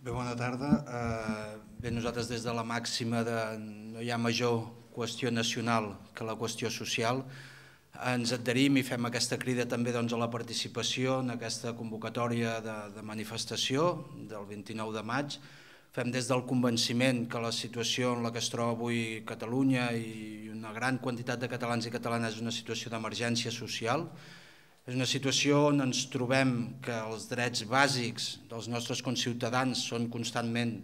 Bé, bona tarda. Bé, nosaltres des de la màxima de no hi ha major qüestió nacional que la qüestió social, ens adherim i fem aquesta crida també a la participació en aquesta convocatòria de manifestació del 29 de maig. Fem des del convenciment que la situació en la que es troba avui Catalunya i una gran quantitat de catalans i catalanes és una situació d'emergència social. És una situació on ens trobem que els drets bàsics dels nostres conciutadans són constantment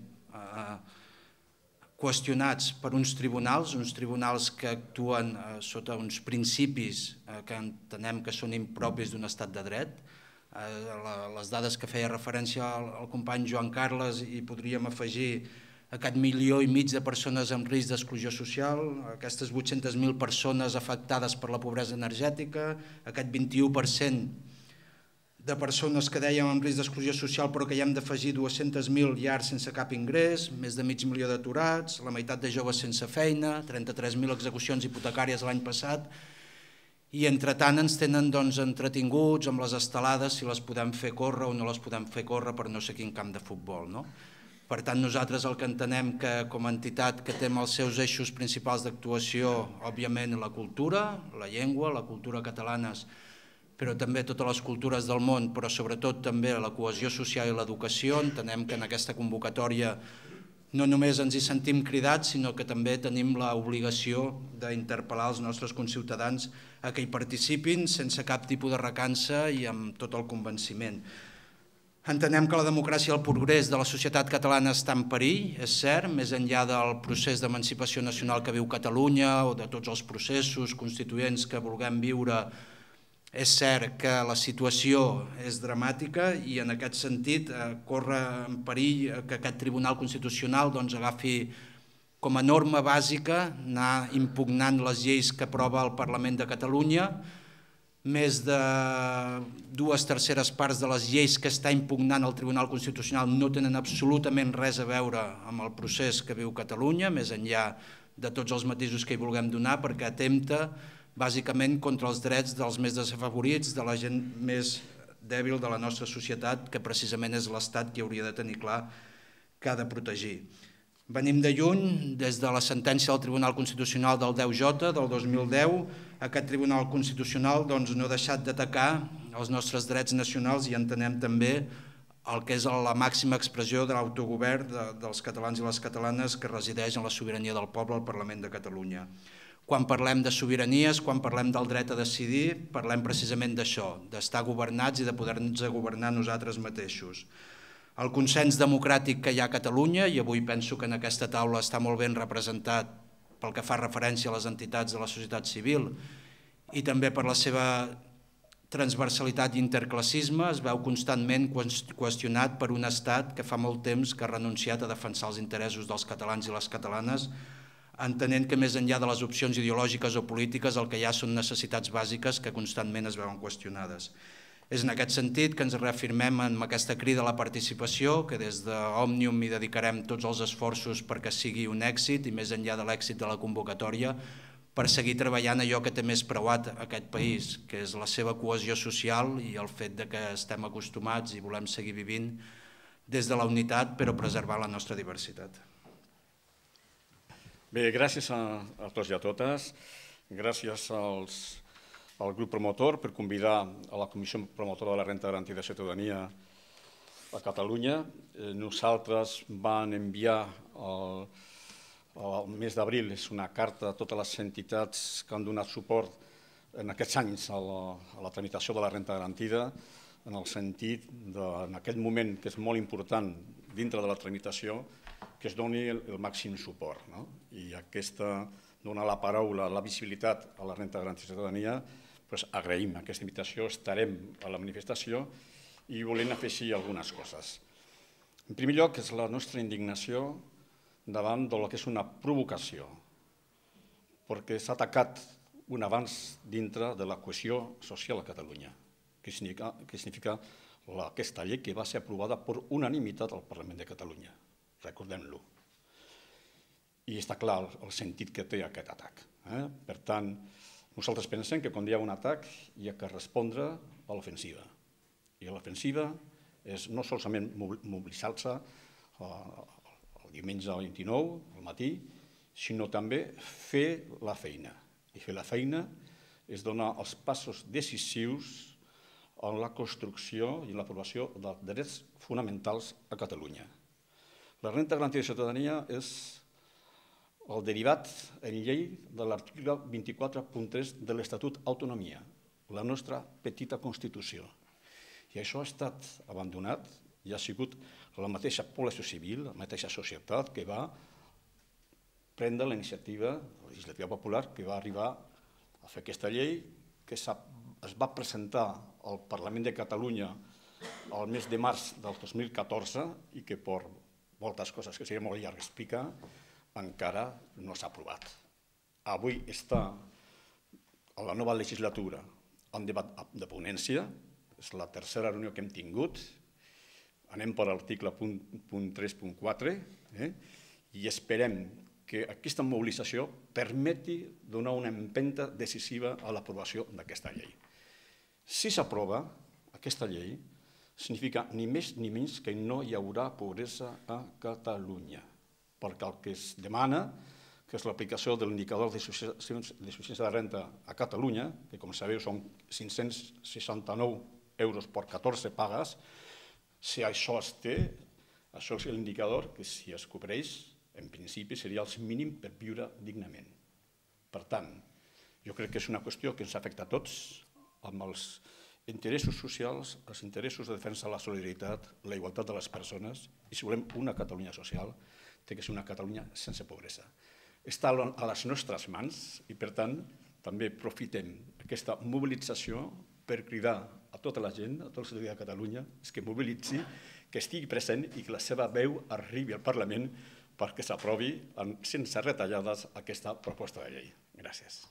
qüestionats per uns tribunals que actuen sota uns principis que entenem que són impropis d'un estat de dret. Les dades que feia referència al company Joan Carles i podríem afegir aquest 1,5 milió de persones amb risc d'exclusió social, aquestes 800.000 persones afectades per la pobresa energètica, aquest 21% de persones que dèiem amb risc d'exclusió social però que hi hem d'afegir 200.000 llars sense cap ingrés, més de 500.000 d'aturats, la meitat de joves sense feina, 33.000 execucions hipotecàries l'any passat, i entretant ens tenen entretinguts amb les estelades si les podem fer córrer o no les podem fer córrer per no sé quin camp de futbol, no? Per tant, nosaltres el que entenem que com a entitat que té els seus eixos principals d'actuació, òbviament la cultura, la llengua, la cultura catalanes, però també totes les cultures del món, però sobretot també la cohesió social i l'educació, entenem que en aquesta convocatòria no només ens hi sentim cridats, sinó que també tenim l'obligació d'interpel·lar els nostres conciutadans a que hi participin sense cap tipus de recança i amb tot el convenciment. Entenem que la democràcia i el progrés de la societat catalana està en perill, és cert, més enllà del procés d'emancipació nacional que viu Catalunya o de tots els processos constituents que vulguem viure. És cert que la situació és dramàtica i en aquest sentit corre en perill que aquest Tribunal Constitucional agafi com a norma bàsica anar impugnant les lleis que aprova el Parlament de Catalunya. Més de 2/3 parts de les lleis que està impugnant el Tribunal Constitucional no tenen absolutament res a veure amb el procés que viu Catalunya, més enllà de tots els matisos que hi vulguem donar, perquè atempta bàsicament contra els drets dels més desafavorits, de la gent més dèbil de la nostra societat, que precisament és l'Estat qui hauria de tenir clar que ha de protegir. Venim de lluny, des de la sentència del Tribunal Constitucional del 10J del 2010, aquest Tribunal Constitucional no ha deixat d'atacar els nostres drets nacionals i entenem també el que és la màxima expressió de l'autogovern dels catalans i les catalanes que resideix en la sobirania del poble al Parlament de Catalunya. Quan parlem de sobiranies, quan parlem del dret a decidir, parlem precisament d'això, d'estar governats i de poder-nos governar nosaltres mateixos. El consens democràtic que hi ha a Catalunya, i avui penso que en aquesta taula està molt ben representat pel que fa referència a les entitats de la societat civil i també per la seva transversalitat i interclassisme, es veu constantment qüestionat per un estat que fa molt temps que ha renunciat a defensar els interessos dels catalans i les catalanes, entenent que més enllà de les opcions ideològiques o polítiques el que hi ha són necessitats bàsiques que constantment es veuen qüestionades. És en aquest sentit que ens reafirmem en aquesta crida a la participació, que des d'Òmnium hi dedicarem tots els esforços perquè sigui un èxit i més enllà de l'èxit de la convocatòria, per seguir treballant allò que té més preuat aquest país, que és la seva cohesió social i el fet que estem acostumats i volem seguir vivint des de la unitat però preservar la nostra diversitat. Bé, gràcies a tots i a totes. Gràcies al grup promotor per convidar a la Comissió Promotora de la Renda Garantida de Ciutadania a Catalunya. Nosaltres vam enviar al mes d'abril una carta a totes les entitats que han donat suport en aquests anys a la tramitació de la renda garantida, en el sentit en aquest moment que és molt important dintre de la tramitació que es doni el màxim suport. I aquesta dona la paraula, la visibilitat a la renda garantida de ciutadania, agraïm aquesta invitació, estarem a la manifestació i volem afegir algunes coses. En primer lloc, és la nostra indignació davant del que és una provocació, perquè s'ha atacat un avanç dintre de la cohesió social a Catalunya, que significa aquesta llei que va ser aprovada per unanimitat al Parlament de Catalunya, recordem-lo. I està clar el sentit que té aquest atac. Per tant, nosaltres pensem que quan hi ha un atac hi ha que respondre a l'ofensiva. I l'ofensiva és no solament mobilitzar-se el diumenge 29, al matí, sinó també fer la feina. I fer la feina és donar els passos decisius en la construcció i l'aprovació dels drets fonamentals a Catalunya. La renda garantida de ciutadania és el derivat en llei de l'article 24.3 de l'Estatut d'Autonomia, la nostra petita Constitució. I això ha estat abandonat i ha sigut la mateixa població civil, la mateixa societat que va prendre la iniciativa legislativa popular, que va arribar a fer aquesta llei, que es va presentar al Parlament de Catalunya el mes de març del 2014 i que per moltes coses que seria molt llarg explicar, encara no s'ha aprovat. Avui està a la nova legislatura en debat de ponència, és la tercera reunió que hem tingut, anem per l'article punt 3.4 i esperem que aquesta mobilització permeti donar una empenta decisiva a l'aprovació d'aquesta llei. Si s'aprova aquesta llei, significa ni més ni menys que no hi haurà pobresa a Catalunya, perquè el que es demana, que és l'aplicació de l'indicador de suficiència de renta a Catalunya, que com sabeu són 569 euros per 14 pagues, si això es té, això és l'indicador que si es cobreix, en principi seria el mínim per viure dignament. Per tant, jo crec que és una qüestió que ens afecta a tots, amb els interessos socials, els interessos de defensa de la solidaritat, la igualtat de les persones, i si volem una Catalunya social, té que ser una Catalunya sense pobresa. Està a les nostres mans i, per tant, també aprofitem aquesta mobilització per cridar a tota la gent, a tota la ciutadania de Catalunya, que mobilitzi, que estigui present i que la seva veu arribi al Parlament perquè s'aprovi sense retallades aquesta proposta de llei. Gràcies.